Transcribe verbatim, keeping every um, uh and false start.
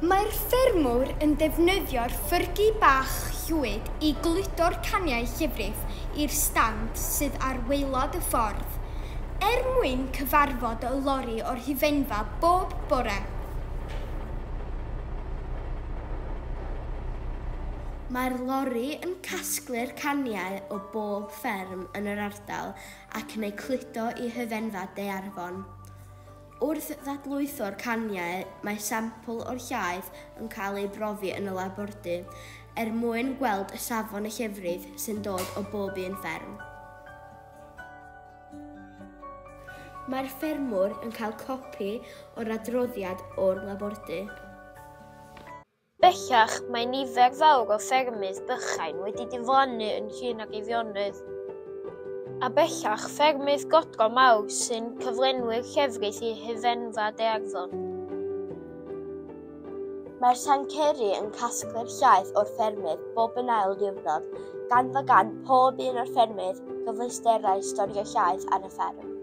Mae'r ffermwr yn defnyddio'r ffyrgi bach llwyd i gludo'r caniau llefrith i'r stand sydd ar waelod y ffordd, er mwyn cyfarfod y lori o'r hufenfa bob bore. Mae'r lori yn casglu'r caniau o bob fferm yn yr ardal ac yn eu cludo i hufenfa Daearfon. Wrth ddadlwytho'r caniau, mae sampl o'r llaeth yn cael ei brofi yn y labordy er mwyn gweld y safon y llefrith sy'n dod o bob un fferm. Mae'r ffermwr yn cael copi o'r adroddiad o'r labordy. Bellach, mae nifer fawr o ffermydd bychain wedi diflannu yn Llŷn ac Eifionydd. A bellach, ffermydd godro mawr sy'n cyflenwi'r llefrith i hufenfa Daearfon. Mae'r tanceri yn casglu'r llaeth o'r ffermydd bob yn ail diwrnod, gan fod gan pob un o'r ffermydd gyfleusterau storio llaeth ar y fferm.